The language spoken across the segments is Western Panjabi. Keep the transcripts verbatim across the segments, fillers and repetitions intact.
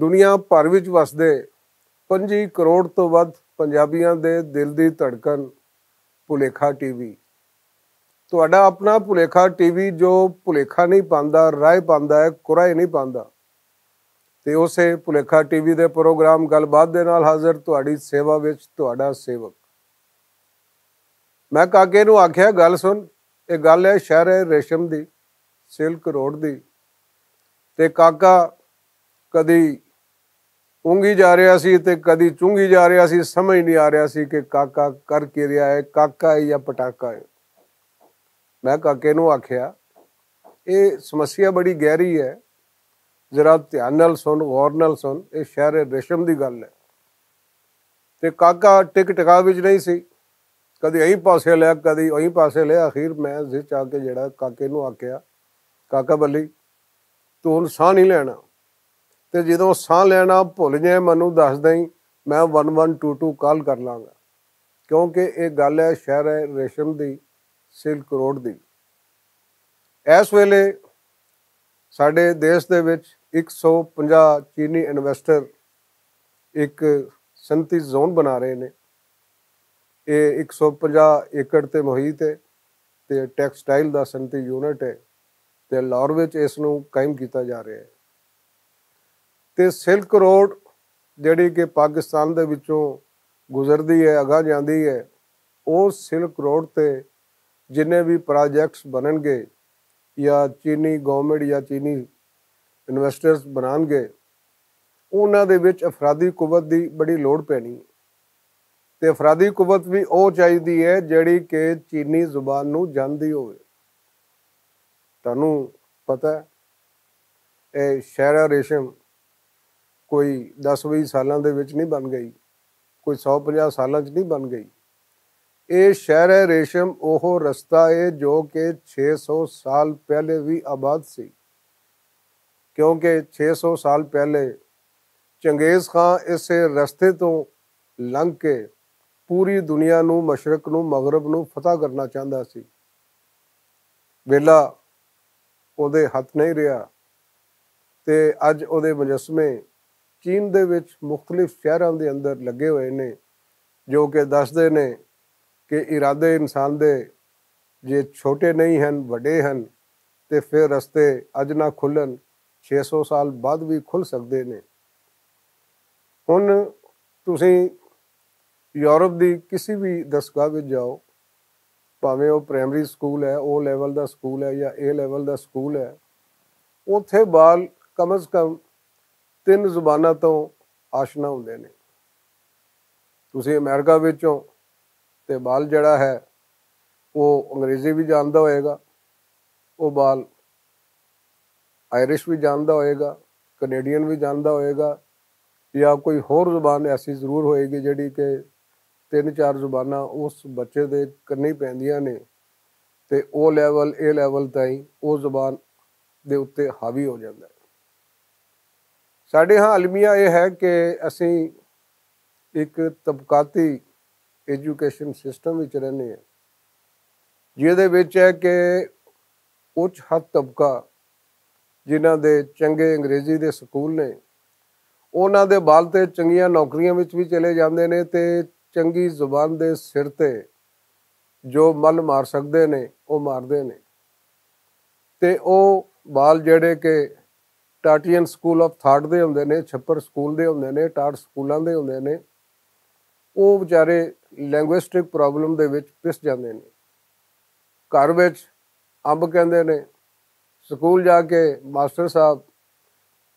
دنیا بھر وچ وسدے پنجی کروڑ توں ودھ پنجابیاں دے دل دی دھڑکن، بھلیکھا ٹی وی۔ تہاڈا اپنا بھلیکھا ٹی وی جو بھلیکھا نہیں پاندا، رائے پاندا ہے، کورائے نہیں پاندا۔ تے اسے بھلیکھا ٹی وی دے پروگرام گل بات دے نال حاضر تہاڈی سیوا وچ تہاڈا سیوک۔ میں کاکے نوں آکھیا، گل سن، اے گل ہے شہر ریشم دی، سلک روڈ دی۔ تے کاکا کدی اونگی جا رہیا سی تے کدی چونگی جا رہیا سی، سمجھ نہیں آ رہیا سی کہ کاکا کر کے رہیا ہے، کاکا ہے یا پٹاکا ہے۔ میں کاکے نوں آکھیا، اے سمسیا بڑی گہری ہے، ذرا دھیان نال سن، غور نال سن، اے شہر ریشم دی گل ہے۔ تے کاکا ٹک ٹکا وچ نہیں سی، کدی ایں پاسے لیا، کدی ایں پاسے لیا۔ آخر میں زچ آ کے جڑا کاکے نوں آکھیا، کاکا بلی، تو ہن ساہ نہیں لینا۔ تے جدوں ساہ لینا بھل جائے، مینوں دس دیں، میں one one two two call کر لاں گا، کیونکہ اے گل ہے شہر ہے ریشم دی، سلک روڈ دی۔ اس ویلے ساڈے دیش دے وچ ایک سو پنجاہ چینی انویسٹر ایک سنتی زون بنا رہے نے۔ اے ایک سو پنجاہ ایکڑ تے محیط ہے، تے ٹیکسٹائل دا سنتی یونٹ ہے، تے لاہور وچ اس نوں قائم کیتا جا رہا ہے۔ تے سلک روڈ جڑی کہ پاکستان دے وچوں گزردی ہے، اگاں جاندی ہے، او سلک روڈ تے جنہیں بھی پراجیکٹس بنن گے یا چینی گورنمنٹ یا چینی انویسٹرز بنان گے، انہاں دے وچ افرادی قوت دی بڑی لوڑ پینی ہے۔ تے افرادی قوت بھی او چاہیدی ہے جڑی کہ چینی زبان نوں جاندی ہوئے۔ تانوں پتہ ہے، اے شہرا ریشم کوئی دس ویہہ سالاں دے وچ نہیں بن گئی، کوئی سو پنجاہ سالاں چ نہیں بن گئی۔ اے شہرا ریشم اوہو رستہ ہے جو کہ چھ سو سال پہلے وی آباد سی، کیونکہ چھ سو سال پہلے چنگیز خان اسے رستے توں لنگ کے پوری دنیا نوں، مشرق نوں، مغرب نوں فتح کرنا چاہندا سی۔ ویلا اوہدے ہتھ نہیں رہیا، تے اج اوہدے مجسمے چین دے وچ مختلف شہراں دے اندر لگے ہوئے نے، جو کہ دسدے نے کہ ارادے انسان دے جے چھوٹے نہیں ہن، وڈے ہن، تے فیر رستے اج نہ کھلن، چھ سو سال بعد وی کھل سکدے نے۔ ہن تسیں یورپ دی کسی وی دستگاہ وچ جاؤ، پاویں او پرائمری سکول ہے، او لیول دا سکول ہے یا اے لیول دا سکول ہے، اوتھے بال کم از کم تن زباناں توں آشنا ہوندے نے۔ تسیں امریکہ وچوں تے بال جڑا ہے، او انگریزی وی جاندا ہوئے گا، او بال آئرش وی جاندا ہوئے گا، کینیڈین وی جاندا ہوئے گا، یا کوئی ہور زبان ایسی ضرور ہوئے گی جڑی کہ تن چار زباناں اس بچے دے کنی پیندیاں نے، تے او لیول اے لیول تائیں او زبان دے اتے حاوی ہو جاندا ہے۔ ساڈے ہاں المیہ اے ہے کہ اسی اک طبقاتی ایجوکیشن سسٹم وچ رہنے ہیں، جس دے وچ ہے کہ اچ ہتھ طبقہ جنہاں دے چنگے انگریزی دے سکول نے، انہاں دے بال تے چنگیاں نوکریاں وچ وی چلے جاندے نے تے چنگی زبان دے سر تے جو مل مار سکدے نے، او ماردے نے۔ تے او بال جڑے کہ ٹاٹین سکول آف تھاٹ دے ہوندے نے، چھپر سکول دے ہوندے نے، ٹاٹ سکولاں دے ہوندے نے، او وچارے لینگوسٹک پرابلم دے وچ پس جاندے نے۔ گھر وچ امب کہندے نے، سکول جا کے ماسٹر صاحب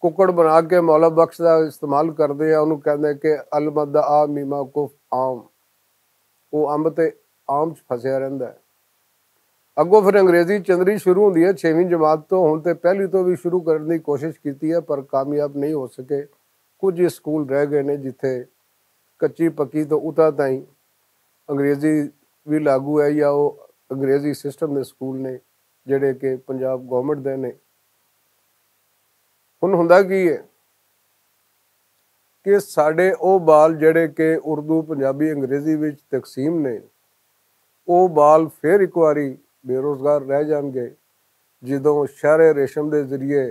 ککڑ بنا کے مولا بخش دا استعمال کردے آ، انہوں کہندے کہ المد آ میما کف آم، او امب تے آم چ پھسیا رہندا ہے۔ اگوں پھر انگریزی چندری شروع ہوندی ہے چھیویں جماعت تو، ہن تے پہلی تو بھی شروع کرن دی کوشش کیتی ہے پر کامیاب نہیں ہو سکے۔ کچھ ہی سکول رہ گئے نے جتھے کچی پکی تو اتھا تائیں انگریزی بھی لاگو ہے یا وہ انگریزی سسٹم دے سکول نے جڑے کہ پنجاب گورنمنٹ دے نے۔ ہن ہوندا کی ہے کہ ساڈے او بال جڑے کہ اردو، پنجابی، انگریزی وچ تقسیم نے، او بال فیر اک واری بے روزگار رہ جان گے، جدوں شہر ریشم دے ذریعے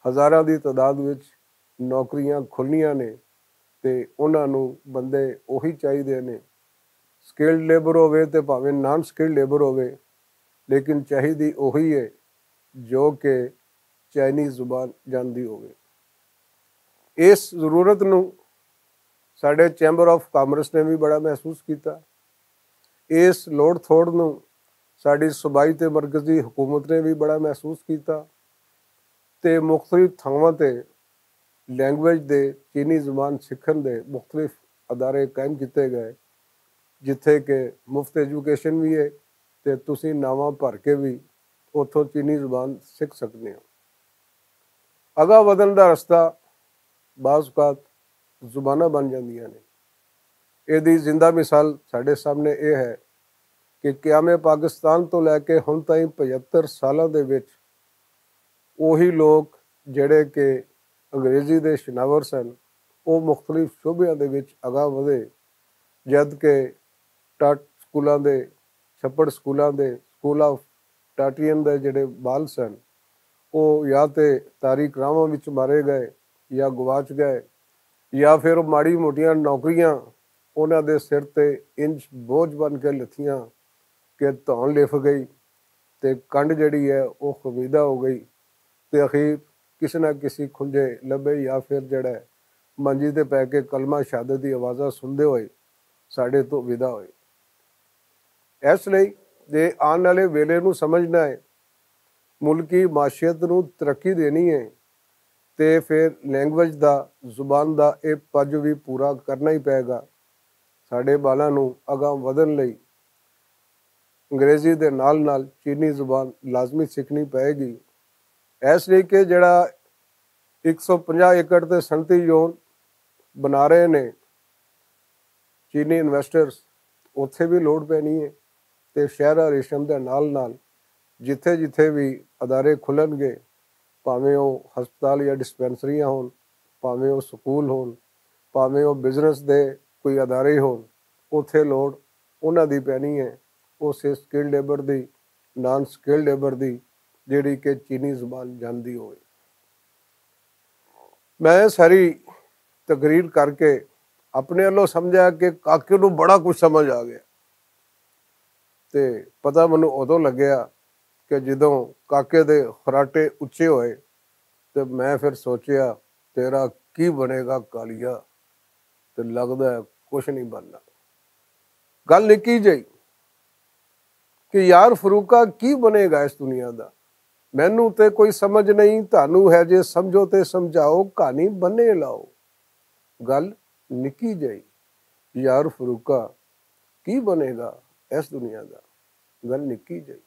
ہزاراں دی تعداد وچ نوکریاں کھلنیاں نے، تے انہاں نوں بندے اوہی چاہیدے نے۔ سکلڈ لیبر ہووے تے بھاویں نان سکلڈ لیبر ہووے، لیکن چاہیدی اوہی ہے جو کہ چائنیز زبان جاندی ہووے۔ اس ضرورت نوں ساڈے چیمبر آف کامرس نے بھی بڑا محسوس کیتا۔ اس لوڑ تھوڑ نوں ساڈی صوبائی تے مرکزی حکومت نے بھی بڑا محسوس کیتا، تے مختلف تھاواں تے لینگویج دے، چینی زبان سکھن دے مختلف ادارے قائم کیتے گئے، جتھے کہ مفت ایجوکیشن بھی ہے تے تسی ناواں بھر کے بھی اتھوں چینی زبان سکھ سکنے ہو۔ اگاں ودھن دا رستہ بعض اوقات زباناں بن جاندیاں نے۔ ایہدی زندہ مثال ساڈے سامنے ایہہ ہے کہ قیام پاکستان توں لے کے ہن تائیں پچھتر سالاں دے وچ اوہی لوک جیہڑے کہ انگریزی دے شناور سن، او مختلف شعبیاں دے وچ اگاں ودھے، جد کہ ٹاٹ سکولاں دے، چھپڑ سکولاں دے، سکول آف ٹاٹین دے جیہڑے بال سن، او یا تے تاریخ راہواں وچ مارے گئے، یا گواچ گئے، یا فیر او ماڑی موٹیاں نوکریاں انہاں دے سر تے انج بوجھ بن کے لتھیاں کہ تون لف گئی، تے کنڈ جیہڑی ہے او خمیدہ ہو گئی، تے اخیر کسے نہ کسے کھنجے لبھے یا فیر جیہڑا ہے منجی تے پے کے کلمہ شہادت دی آوازاں سندے ہوئے ساڈے توں ودا ہوئے۔ ایس لئی جے آن آلے ویلے نوں سمجھنا ہے، ملکی معاشیت نوں ترقی دینی ہے، تے فیر لینگویج دا، زبان دا ایہہ پج وی پورا کرنا ہی پے گا۔ ساڈے بالاں نوں اگاں ودھن لئی انگریزی دے نال نال چینی زبان لازمی سکھنی پے گی۔ ایس لئی کہ جیہڑا اک سو پنجاہ ایکڑ تے سنتی یون بنا رہے نے چینی انویسٹرز، اتھے وی لوڑ پینی ہے۔ تے شہر ریشم دے نال نال جتھے جتھے وی ادارے کھلن گے، پاویں او ہسپتال یا ڈسپنسریاں ہون، پاویں او سکول ہون، پاویں او بزنس دے کوئی ادارے ہون، اتھے لوڑ انہاں دی پینی ہے، اس سکلڈ لیبر دی، نان سکلڈ لیبر دی، جیہڑی کہ چینی زبان جاندی ہوئے۔ میں ساری تقریر کر کے اپنے ولوں سمجھا کہ کاکے نوں بڑا کچھ سمجھ آ گیا۔ تے پتہ مینوں ادوں لگیا کہ جدوں کاکے دے خراٹے اچے ہوئے، تے میں فیر سوچیا، تیرا کی بنے گا کالیا؟ تے لگدا ہے کچھ نہیں بننا۔ گل نکی جئی کہ یار فروقہ، کی بنے گا اس دنیا دا؟ مینوں تے کوئی سمجھ نہیں، تانوں ہے جے سمجھو تے سمجھاؤ، کہانی بنے لاؤ۔ گل نکی جئی، یار فروقہ، کی بنے گا اس دنیا دا؟ گل نکی جئی۔